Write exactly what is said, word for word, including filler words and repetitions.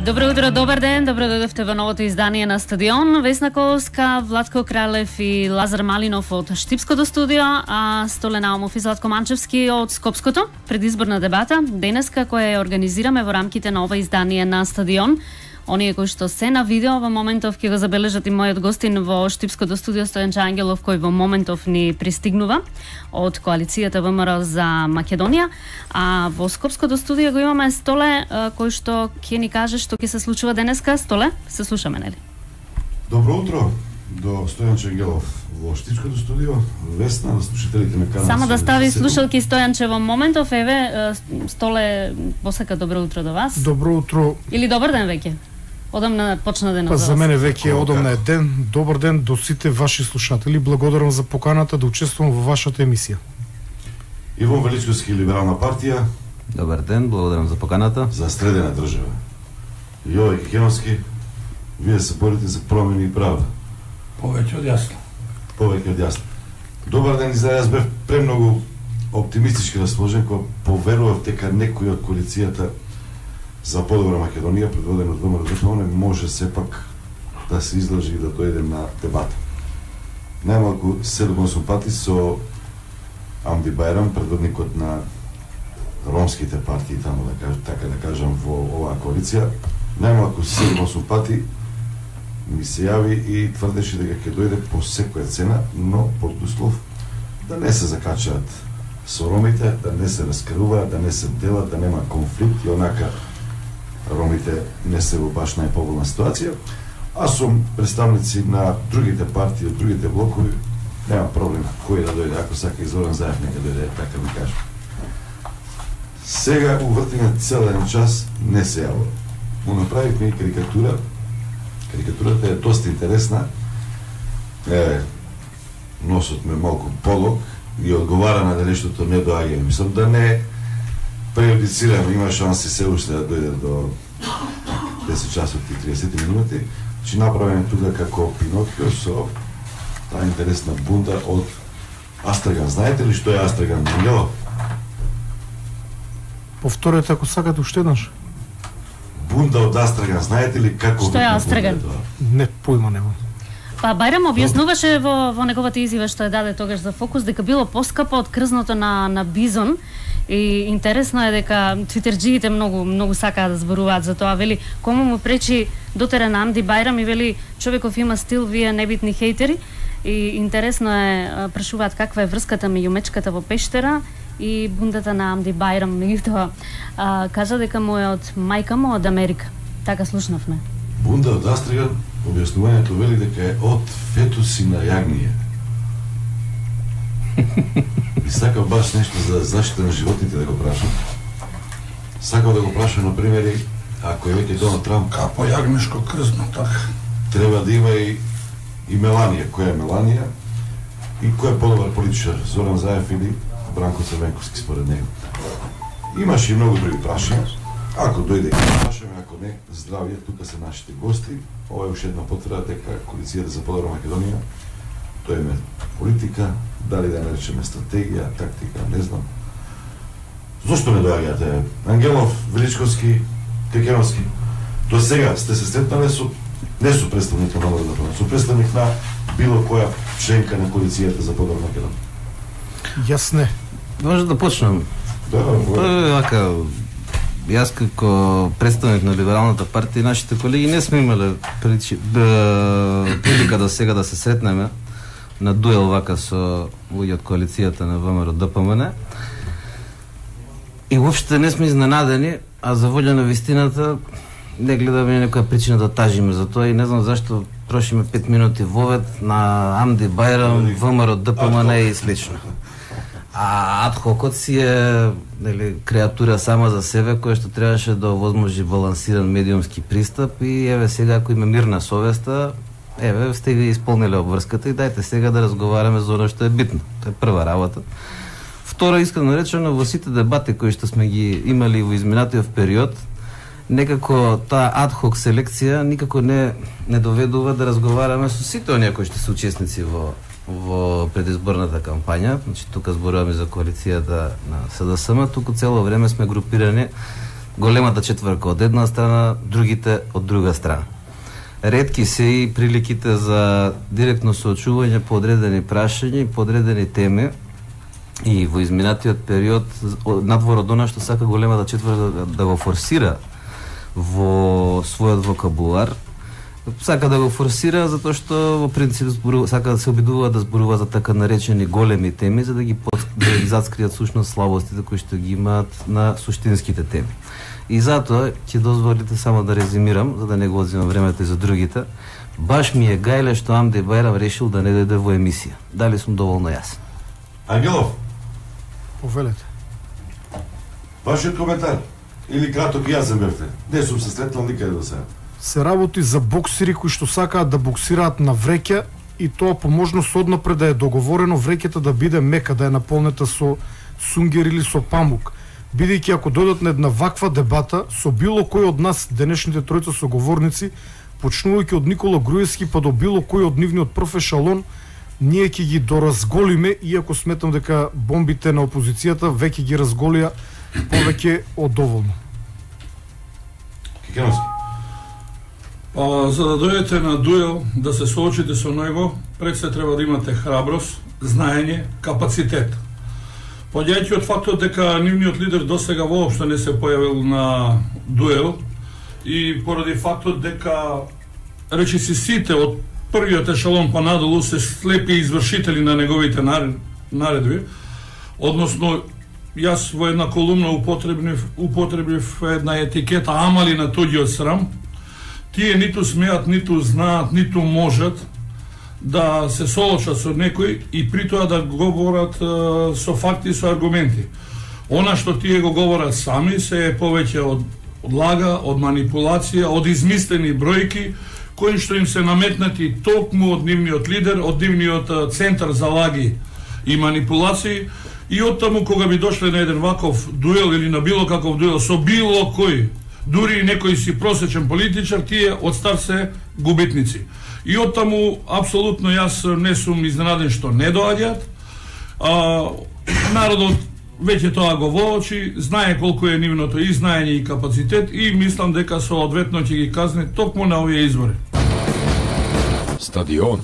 Добро утро, добар ден, добро дојдовте во новото издание на Стадион. Весна Коловска, Владко Кралев и Лазар Малинов од Штипското студио, а Столе Наумов и Златко Манчевски од Скопското. Предизборна дебата денеска која ја организираме во рамките на ова издание на Стадион. Оние кои што се на видео во моментов ќе го забележат и мојот гостин во Штипското студио Стојанче Ангелов, кој во моментов ни пристигнува од коалицијата ВМРО за Македонија, а во Скопското студио го имаме Столе, кој што ќе ни каже што ќе се случува денеска. Столе, се слушаме, нели? Добро утро до Стојанче Ангелов во Штипското студио. Весна на слушателите ме канат. Само да стави слушалки Стојанче во моментов. Еве, Столе посака добро утро до вас. Добро утро. Или добар ден веќе. Одамна почна денот. Па за мене веќе е одамна е ден. Добар ден до сите ваши слушатели. Благодарам за поканата да учествувам во вашата емисија. Иван Величковски, Либерална партија. Добар ден, благодарам за поканата. За средена држава. Јове Кекеновски, вие се борите за промени и правда. Повеќе од јасно. Повеќе од јасно. Добар ден, за јас бев премногу оптимистички расположен кога поверував дека некој од коалицијата за подобра Македонија, предводен од ВМРО, може сепак да се излажи и да дојде на дебата. Најмалку седум-осум пати со Амди Бајрам, предводникот на ромските партии, таму да кажа, така да кажам, во оваа коалиција, најмалку седум-осум пати ми се јави и тврдеше дека ќе дојде по секоја цена, но под услов да не се закачаат со ромите, да не се раскруваат, да не се делат, да нема конфликт и онака ромите не се во баш најповолна ситуација. Аз сум представници на другите партии, од другите блокови, нема проблем кој да дојде, ако сака и Зоран Заев нека дојде, така ми кажа. Сега увртиме цел еден час не се јавува. Му направивме и карикатура. Карикатурата е доста интересна. Е, носот ме малку полог и одговара на нештото не доаѓа. Мислам да не преюдицирам, има шанси се уште да дојде до десет часот и триесет минути. Значи направен тука како Пинокио со таа интересна бунда од Астраган. Знаете ли што е Астраган? Ангело? Повторете ако сакате уште еднаш. Бунда од Астраган. Знаете ли како Што е Астраган? Не појма немам. Па Бајрам објаснуваше во, во неговата изјава што ја даде тогаш за Фокус дека било поскапо од крзното на, на бизон. И интересно е дека твитерџиите многу многу сакаат да зборуваат за тоа. Вели, кому му пречи дотера на Амди Бајрам и вели, човеков има стил, вие небитни хейтери. И интересно е, прашуваат каква е врската меѓу мечката во пештера и бундата на Амди Бајрам. Меѓутоа, кажа дека му е од мајка му од Америка. Така слушнавме. Бунда од Астраган, објаснувањето вели дека е од фетуси на јагније. И сакав баш нешто за заштита на животните да го прашам. Сакав да го прашам, например, ако е веќе Доналд Трамп, Капо јагнешко крзно, така. треба да има и, и Меланија. Која е Меланија? И кој е подобар политичар? Зоран Заев или Бранко Црвенковски според него? Имаше и многу други прашања. Ако дојде и прашаме, ако не, здравје, тука се нашите гости. Ова е уште една потврда дека коалицијата за подобра Македонија, тоа е политика, дали да наречеме стратегија, тактика, не знам. Зошто не доаѓате? Ангелов, Величковски, Кекеновски. До сега сте се сретнале со не со представник на Народната партија, со представник на било која членка на коалицијата за подобра Македонија. Јас не. Може да почнем. Да, Па, вака, јас како представник на Либералната партија, нашите колеги не сме имале прилика до сега да се сретнеме на дуел вака со луѓе од коалицијата на ВМРО ДПМН. И уопште не сме изненадени, а за волја на вистината не гледаме некоја причина да тажиме за тоа и не знам зашто трошиме пет минути вовед на Амди Бајрам, ВМРО ДПМН и слично. А адхокот си е, нели, креатура сама за себе, која што требаше да овозможи балансиран медиумски пристап и еве сега ако има мирна совеста, еве сте ви исполниле обврската и дајте сега да разговараме за оно што е битно. Тоа е прва работа. Второ, искрено речено, во сите дебати кои што сме ги имали во изминатиот период, некако таа адхок селекција никако не не доведува да разговараме со сите оние кои што се учесници во во предизборната кампања. Значи тука зборуваме за коалицијата на СДСМ, туку цело време сме групирани големата четврка од една страна, другите од друга страна. Ретки се и приликите за директно соочување по одредени прашања и по одредени теми, и во изминатиот период надвор од она што сака големата четврка да го форсира во својот вокабулар, сака да го форсира затоа што во принцип зборува, сака да се обидува да зборува за така наречени големи теми, за да ги под, да ги заскријат сушност слабостите кои што ги имаат на суштинските теми. И затоа ќе дозволите само да резимирам, за да не го одзимам времето и за другите. Баш ми е гајле што Амди Бајрам решил да не дојде во емисија. Дали сум доволно јасен? Ангелов, Повелете. вашиот коментар или краток јазен бевте? Не сум се сретнал никаде до сега. Се работи за боксери кои што сакаат да боксираат на вреќа и тоа по можност однапред да е договорено вреќата да биде мека, да е наполнета со сунгер или со памук. Бидејќи ако додат на една ваква дебата со било кој од нас, денешните тројца соговорници, почнувајќи од Никола Груевски па до било кој од нивниот профешалон, ние ќе ги доразголиме, иако сметам дека бомбите на опозицијата веќе ги разголија повеќе од доволно. Кикеновски. Па, за да дојдете на дуел, да се соочите со него, пред се треба да имате храброст, знаење, капацитет. Поѓајќи од фактот дека нивниот лидер досега воопшто не се појавил на дуел и поради фактот дека речиси сите од првиот ешалон па надолу се слепи извршители на неговите наредби, односно јас во една колумна употребив, употребив една етикета амали на туѓиот срам. Тие ниту смеат, ниту знаат, ниту можат да се соочат со некој и при тоа да говорат е, со факти и со аргументи. Она што тие го говорат сами се е повеќе од, од лага, од манипулација, од измислени бројки кои што им се наметнати токму од нивниот лидер, од нивниот центар за лаги и манипулации, и од таму кога би дошле на еден ваков дуел или на било каков дуел со било кој, дури и некој си просечен политичар, тие од стар се губитници. И од таму апсолутно јас не сум изненаден што не доаѓаат. А, народот веќе тоа го воочи, знае колку е нивното и знаење и капацитет и мислам дека соодветно ќе ги казне токму на овие избори. Стадион.